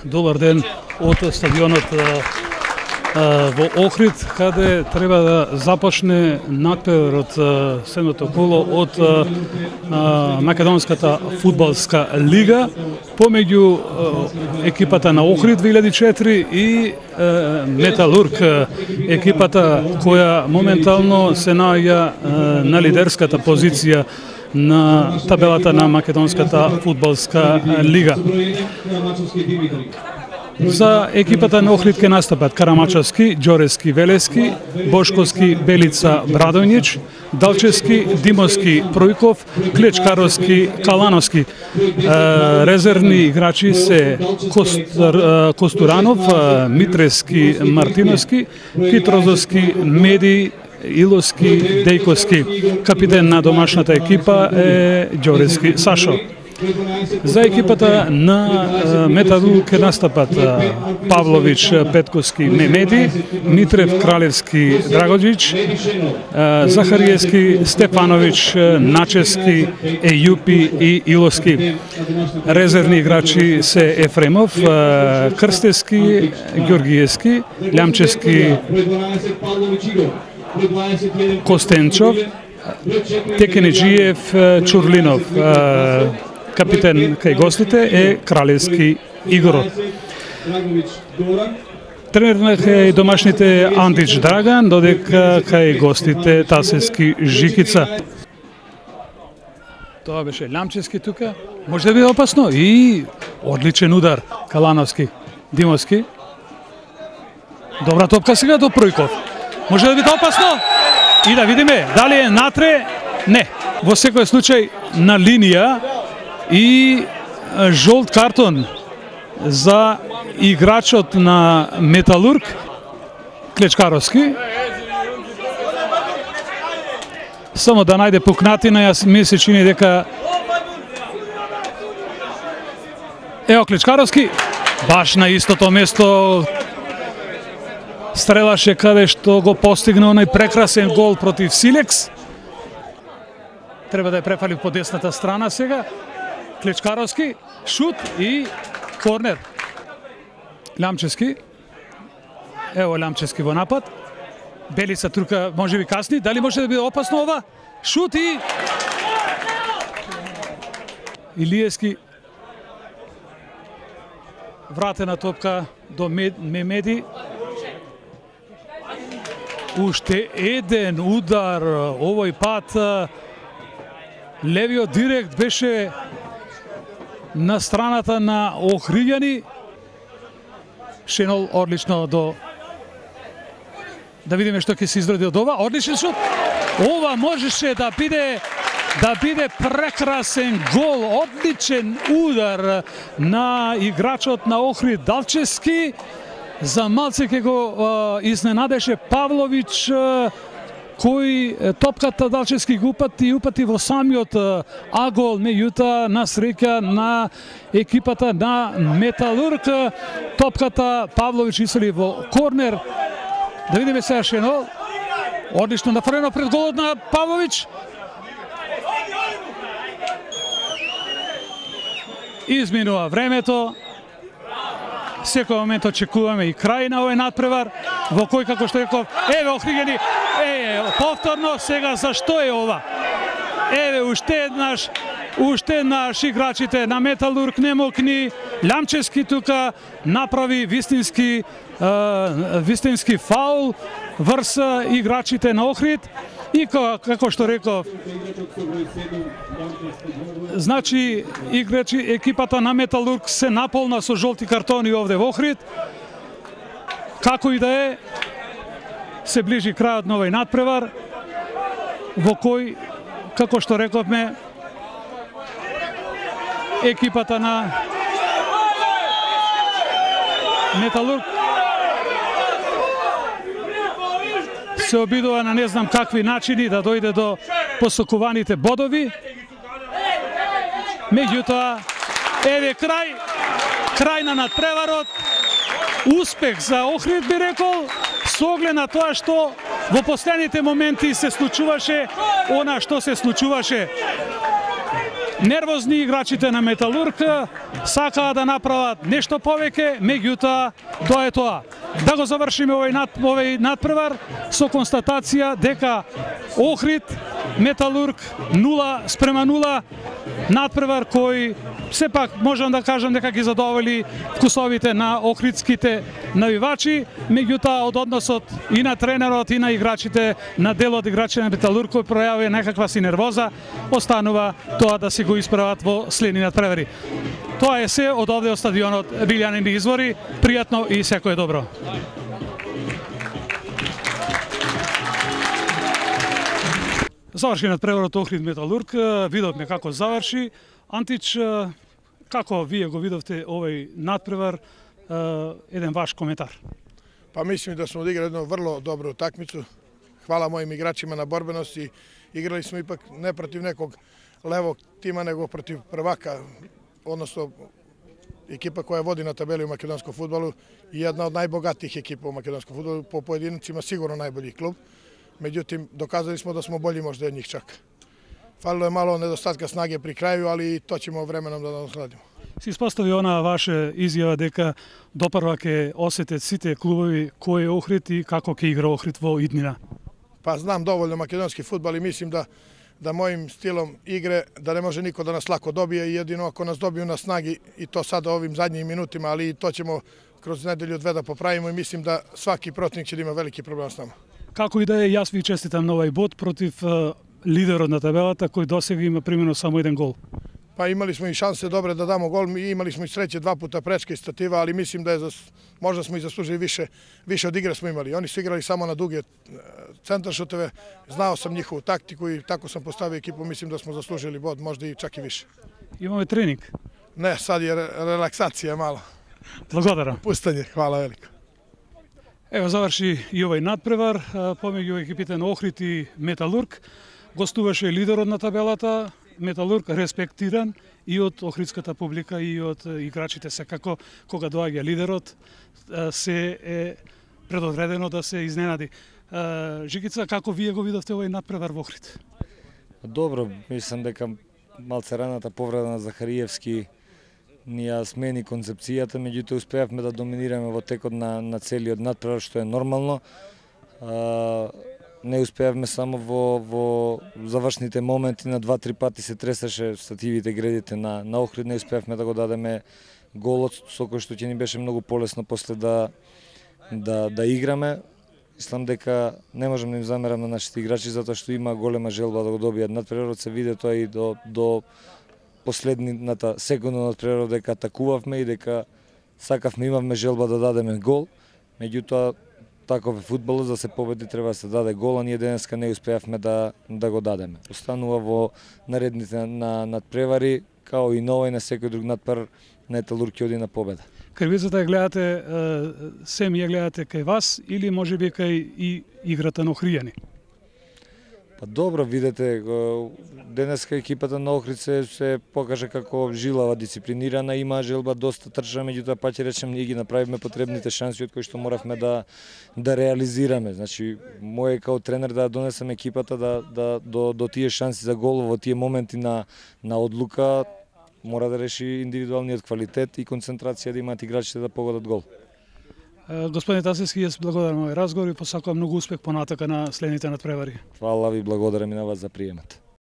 Добар ден од стадионот во Охрид, каде треба да започне натпреварот седмото коло од Македонската фудбалска лига помеѓу екипата на Охрид 2004 и Металург, екипата која моментално се наоѓа на лидерската позиција на табелата на Македонската фудбалска лига. За екипата на Охрид ке настапат Карамачевски, Ѓорески, Велески, Бошковски, Белица, Брадоњич, Далчевски, Димовски, Пројков, Клечкаровски, Калановски. Резервни играчи се Костуранов, Митрески, Мартиновски, Китрозовски, Меди, Иловски, Дејковски. Капитен на домашната екипа е Ѓорески Сашо. За екипата на Металург ке настапат Павлович, Петковски, Мемеди, Митрев, Кралевски, Драгоđić, Захариевски, Степанович, Начевски, Ејупи и Иловски. Резервни играчи се Ефремов, Крстевски, Ѓоргиевски, Лјамчевски, Костенчов, Текенеджиев, Чурлинов. Капитен кај гостите е Кралевски Игор. Тренер на кај домашните Андич Драган, додека кај гостите Тасевски Жикица. Тоа беше Лјамчевски тука. Може да биде опасно и одличен удар Калановски, Димовски. Добра топка сега до Пројков. Може да биде опасно и да видиме дали е натре. Не, во секој случај на линија и жолт картон за играчот на Металург Клечкаровски. Само да најде пукнатина, јас ми се чини дека ево Клечкаровски баш на истото место стрелаше каде што го постигна оној прекрасен гол против Силекс. Треба да ја префали по десната страна сега. Клечкаровски, шут и корнер. Лјамчевски. Ево Лјамчевски во напад. Белица турка може би касни. Дали може да биде опасно ова? Шут и Илиевски. Вратена топка до Мемеди. Уште еден удар овој пат. Левиот директ беше на страната на Охриѓани. Шенол одлично до... Да видиме што ќе се изроди од ова. Одличен шут. Ова можеше да биде прекрасен гол. Одличен удар на играчот на Охрид Далчевски. За малце ќе го изненадеше Павлович, кој топката Далчевски го упати во самиот агол, меѓутоа на среќа на екипата на Металург. Топката Павлович исели во корнер. Да видиме сега Шенол. Одлично нафрлено пред голот на Павлович. Изминува времето. Секој момент очекуваме и крај на овој надпревар, во кој, како што реков, еве Охриѓани, повторно, сега зашто е ова? Еве, уште еднаш играчите на Металург не мокни, Лјамчевски тука направи вистински фаул врз играчите на Охрид. И како што реков, значи екипата на Металург се наполна со жолти картони овде во Охрид. Како и да е, се ближи крајот на овој надпревар, во кој, како што рековме, екипата на Металург се обидува на не знам какви начини да дојде до посокуваните бодови. Меѓутоа, еве крај на надпреварот, успех за Охрид би рекол, со оглед на тоа што во последните моменти се случуваше она што се случуваше. нервозни играчите на Металург, сакаа да направат нешто повеќе, меѓутоа тоа е тоа. Да го завршиме овој надпревар со констатација дека Охрид Металург 0:0, надпревар кој сепак можам да кажам дека ги задоволи вкусовите на охридските навивачи, меѓутоа од односот и на тренерот и на играчите, на делот играчи на Металург кој пројавија некаква си нервоза, останува тоа да си го исправат во следни надпревари. Тоа е се од овде од стадионот Билјанин Извори. Пријатно и секое добро. Заврши надпреварот Охрид Металург, видовме како заврши. Антич, како вие го видовте овој надпревар, еден ваш коментар? Па мислим да сме одиграли едно врло добро такмицу. Хвала моим играчима на борбеност и играли сме ипак не против неког левог тима, него против првака, односно екипа која води на табели у македонском фудбалу и една од најбогатих екипа у македонском фудбалу, по поединцима сигурно најбољи клуб. Меѓутим, доказали смо да смо болji можда од нив чак. Фалило е мало недостатка снаге при крају, али тоа ќе временом да надокнадиме. Се испостави она ваша изјава дека допрва ќе осетат сите клубови кој е Охрид и како ќе игра Охрид во иднина. Па знам доволно македонски фудбал и мислим да моим стилом игре да не може нико да нас лако добие и едино ако нас добiju на снаги и то сада овим задњим минутима, али и то ćemo кроз неделју две да поправимо и мислим да сваки противник ќе да има велики проблем с нама. Како и да е, јас ви честитам на овој бод против лидерот на табелата кој досега има примено само еден гол. Па имали смо и шансе добре да дамо гол, и имали смо и среќе два пута пречка и статива, али мислим да е можда смо и заслужили више од игра смо имали. Они се играли само на дуги центаршутове. Знао сам нихову тактику и тако сам поставио екипу, мислим да смо заслужили бод, можда и чак и више. Имаме тренинг? Не, сад е релаксација мало. Благодарам. Пустање, хвала велико. Ево заврши и овој надпревар помеѓу екипите на Охрид и Металург. Гостуваше лидерот на табелата, Металург респектиран и од охридската публика и од играчите, секако кога доаѓа лидерот се е предодредено да се изненади. Жигица, како вие го видовте овој надпревар во Охрид? Добро, мислам дека малце раната повреда на Захариевски ни ја смени концепцијата, меѓутоа успеавме да доминираме во текот на целиот надпревар, што е нормално. Не успеавме само во завршните моменти, на 2-3 пати се тресаше стативите, гредите на Охрид, не успеавме да го дадеме голот, со кој што ќе ни беше многу полесно после да играме. Мислам дека не можам да им замерам на нашите играчи, затоа што има голема желба да го добијат надпреварот, се виде тоа и до последната секунда на надпреварот дека атакувавме и дека сакавме, имавме желба да дадеме гол, меѓутоа таков е фудбалот, за да се победи треба да се даде гол, а ние денеска не успеавме да го дадеме. Останува во наредните надпревари, као и новој на секој друг надпревар, Металург ќе оди на победа. Кривицата ја гледате, сем ја гледате кај вас или можеби кај и играта на охријани? Па добро, видете, денеска екипата на Охрид се покажа како жилава, дисциплинирана, има желба, доста трча, меѓутоа па ќе речем ние ги направивме потребните шанси од кои што моравме да реализираме. Значи, мој као тренер да донесам екипата до тие шанси за гол во тие моменти на одлука, мора да реши индивидуалниот квалитет и концентрација да имаат играчите да погодат гол. Господин Тасевски, јас благодарам овој разговор и посакувам многу успех понатака на следните надпревари. Фала ви, благодарам и на вас за приемот.